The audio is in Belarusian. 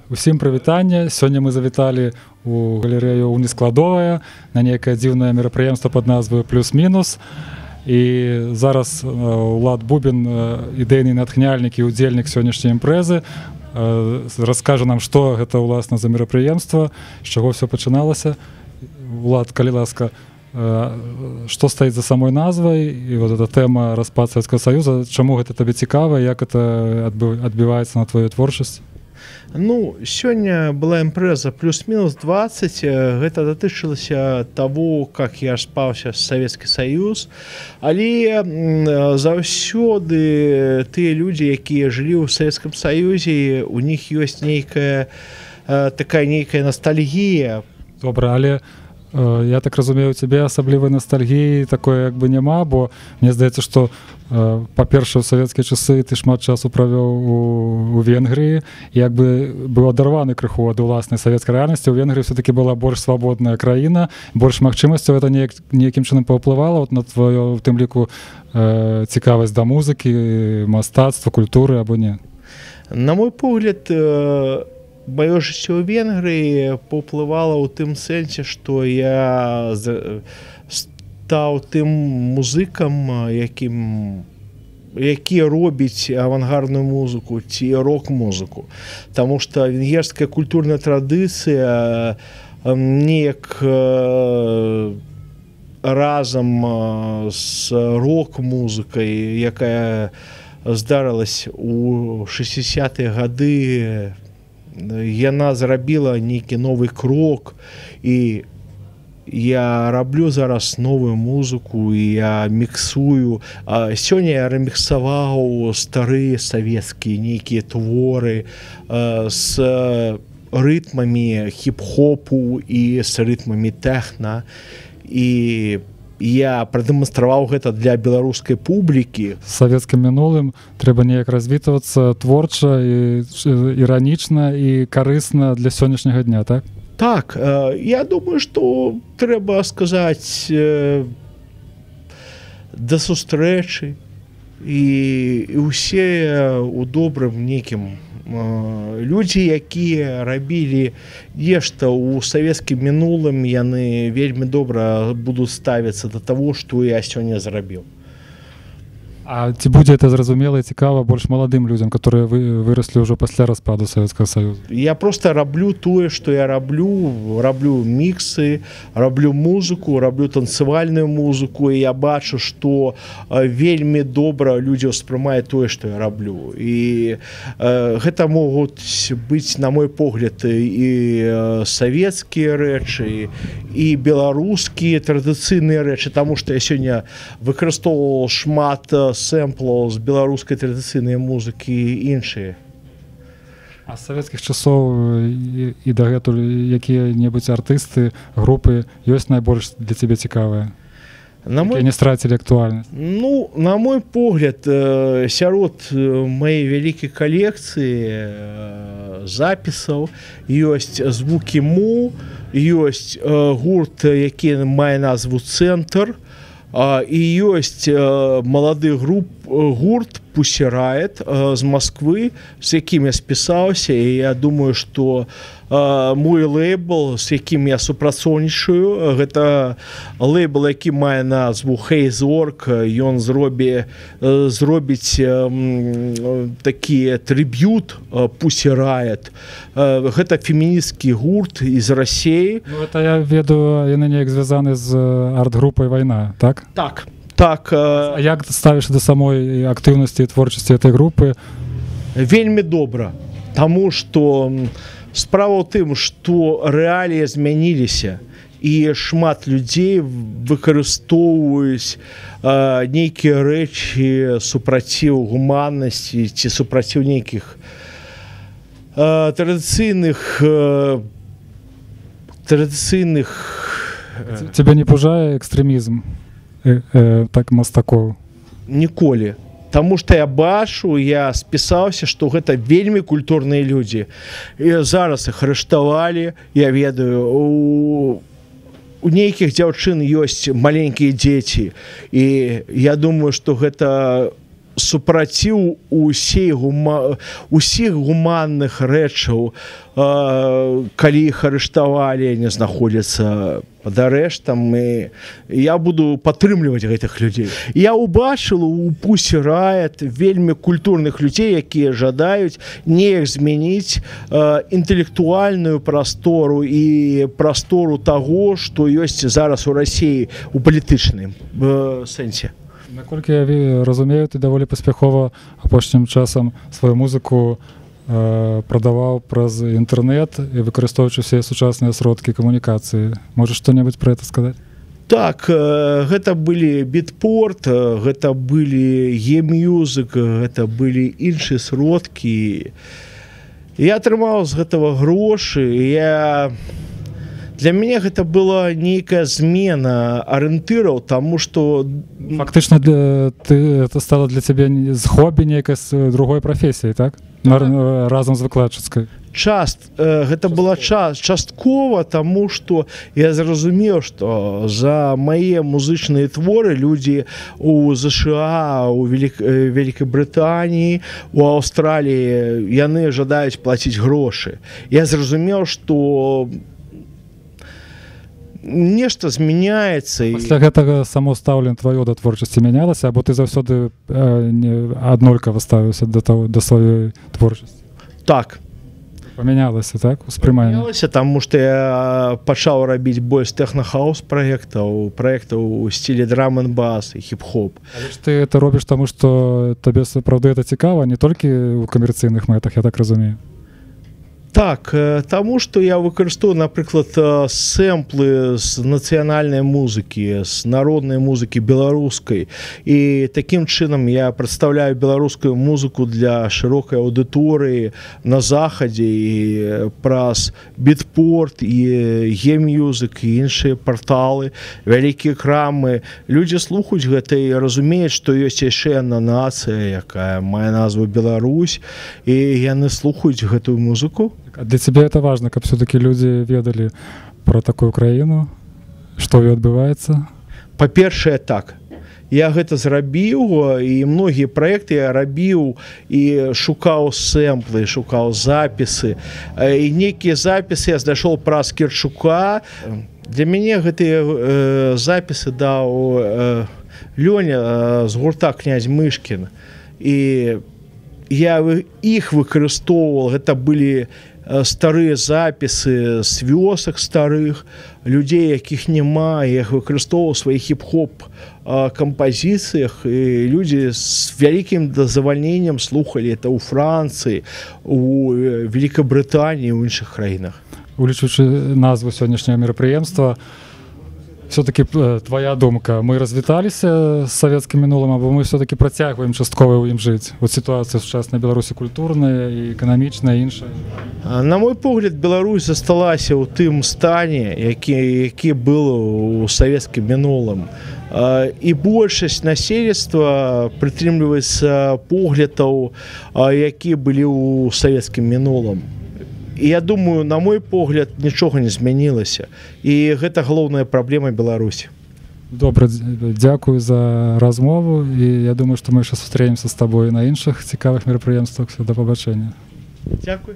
Усім прывітанне. Сёння мы завіталі у галерэю «Унескладовая» на некае дзіўнае мерапрыемства пад назваю «Плюс-мінус». І зараз Улад Бубін, ідэйны натхняльнік і ўдзельнік сённяшняй імпрэзы, раскажа нам, што гэта ўласна за мерапрыемства, з чаго ўсё пачыналася. Улад, калі ласка, што стаіць за самой назвай, і вот эта тэма распад Савецкага Саюза, чаму гэта табе цікава, як это адбіваецца на твою творчасць? Ну, сёння была імпрэза «Плюс-мінус 20». Гэта датычылася таго, как я спаўся з Савецкі Саюз. Але заўсёды тыя людзі, якія жылі ў Савецкім Саюзе, у них ёсць нейкая такая нейкая ностальгія. Добра, але я так разумею, у цябе асаблівай ностальгіі такой як бы няма, бо мне здаецца, што па-першае, у савецкія часы ты шмат часу правёў у Венгрыі, як бы быў адарваны крыху ад уласнай савецкай рэальнасці. У Венгрыі все-таки была больш свабодная краіна, больш магчымасцяў. Гэта нейкім чынам паўплывала вот на твою, в тым ліку, цікавасць да музыкі, мастацтва, культуры або не? На мой погляд, маё жыццё ў Венгрыі паўплывала ў тым сэнсе, што я стаў тым музыкам, які робіць авангардную музыку ці рок-музыку. Таму што венгерская культурная традыцыя неяк разам з рок-музыкай, якая здарылась у 60-е гады, яна зрабіла нейкі новы крок, і я раблю зараз новую музыку, і я міксую. Сёння я реміксаваў старыя савецкія нейкія творы з рытмамі хіп-хопу і з рытмамі тэхна, і я прадэманстраваў гэта для беларускай публікі. З савецкім мінулым трэба неяк развітвацца творча і іранічна і карысна для сённяшняга дня, так? Так, я думаю, што трэба сказаць да сустрэчы, і ўсе ў добрым нейкім людзі, якія рабілі нешта ў савецкім мінулым, яны вельмі добра будуць ставіцца да таго, што я сёння зрабіў. А ці будзе это зразумела і цікава больш маладым людзям, которые выраслі ўжо пасля распаду Савецкага Саюза? Я просто раблю тое, што я раблю міксы, раблю музыку, раблю танцевальную музыку, і я бачу, што вельмі добра людзі ўспрымаюць тое, што я раблю. І гэта могуць быць, на мой погляд, і савецкія рэчы, і беларускія традыцыйныя рэчы, таму што я сёння выкарыстоўваў шмат сэмплаў з беларускай традыцыйнай музыкі і іншыя. А з савецкіх часоў і дагэтуль якія-небудзь артысты, групы ёсць найбольш для цябе цікавыя? Якія не страцілі актуальнасць? Ну, на мой погляд, сярод маёй вялікай калекцыі запісаў ёсць звукі Му, ёсць гурт, які мае назву «Цэнтр», і ёсць малады гурт «Pussy Riot» з Москвы, з якім я спісаўся, і я думаю, што мой лейбл, з якім я супрацоўнічаю, гэта лейбл, які мае назву «Хейзорг», ён зробіць такі трыб'ют «Pussy Riot». Гэта феміністкі гурт з Расіі. Ну, гэта я ведаю, яны неяк звязаны з арт-групай «Вайна», так? Так. А як ставіш да самой актыўнасці і творчасці этой групы? Вельмі добра, таму што справа ў тым, што рэаліі змяніліся, і шмат людзей выкарыстоўваюць нейкія рэчы супраціў гуманнасці ці супраціў нейкіх традыцыйных... Цябе не пужае экстрэмізм так мастакоў? Ніколі. Таму што я бачу, я спісаўся, што гэта вельмі культурныя людзі. І зараз іх арыштавалі, я ведаю, у нейкіх дзяўчын ёсць маленькія дзеці, і я думаю, што гэта супраціў усіх гуманных рэчаў, калі іх арыштавалі, не знаходзяцца пад арэштам, і я буду падтрымліваць гэтых людзей. Я ўбачыў у Pussy Riot вельмі культурных людзей, якія жадаюць неяк змяніць інтэлектуальную прастору і прастору таго, што ёсць зараз у Расіі у палітычным сэнсе. Наколькі я разумею, ты даволі паспяхова апошнім часам сваю музыку прадаваў праз інтэрнэт і выкарыстоўваючы ўсе сучасныя сродкі камунікацыі. Можаш што-небудзь пра гэта сказаць? Так, гэта былі Beatport, гэта былі eMusic, гэта былі іншыя сродкі. Я атрымаў з гэтага грошы, для мяне гэта была нейкая змена арыентыраў, таму што фактычна это стала для цябе з хобі нейкай з другой прафесіі, так? Разам з выкладчыцкай. Гэта была часткова, таму што я зразумеў, што за мае музычныя творы людзі у ЗША, у Вялікай Брытаніі, у Аўстраліі, яны жадаюць плаціць грошы. Я зразумеў, што нешта змяняецца. Пасля гэтага само стаўленне тваё да творчасці мянялася, або ты заўсёды аднолькава ставіўся да сваёй творчасці? Так. Памянялася, так? Успрыманне? Памянялася, таму што я пачаў рабіць больш тэхна-хаус праектаў у стілі драм-н-бас і хіп-хоп. Але ж ты это робіш таму, што табе сапраўды это цікава, не толькі ў камерцыйных мэтах, я так разумею. Так, таму што я выкарыстоўваю, напрыклад, сэмплы з нацыянальнай музыкі, з народнай музыкі беларускай. І такім чынам я прадстаўляю беларускую музыку для шырокай аўдыторыі на захадзе і праз Beatport і eMusic і іншыя парталы, вялікія крамы. Людзі слухаюць гэта і разумеюць, што ёсць яшчэ адна нацыя, якая мае назву Беларусь, і яны слухаюць гэтую музыку. Для цябе это важна, каб все-таки людзі ведалі пра такую краіну, што ёй адбываецца? Па-першае, так. Я гэта зрабіў, і многія праекты я рабіў і шукаў сэмплы, шукаў запісы. І нейкія запісы я знайшоў праз Керчука. Для мяне гэтыя запісы даў Лёня з гурта «Князь Мышкін». І я іх выкарыстоўваў, гэта былі старыя запісы з вёсак старых, людзей, якіх няма, я іх выкарыстоўваў у сваіх хіп-хоп кампазіцыях, і людзі з вялікім задавальненнем слухалі это ў Францыі, у Вялікай Брытаніі, у іншых краінах. Улічваючы назву сённяшняга мерапрыемства, все-таки твоя думка, мы развіталіся з савецкім мінулым, або мы все-таки працягваем часткова ў ім жыць? Вот сітуацыя сучаснай Беларусі культурная і эканамічная, і іншая. На мой погляд, Беларусь засталася ў тым стане, які был у савецкім мінулым. І большасць насельніцтва прытрымліваецца поглядаў, якія былі ў савецкім мінулым. І я думаю, на мой погляд, нічога не змянілася. І гэта галоўная праблема Беларусі. Добра, дзякую за размову. І я думаю, што мы яшчэ сустрэнемся з табой на іншых цікавых мерапрыемствах. Да пабачэння. Дзякуй.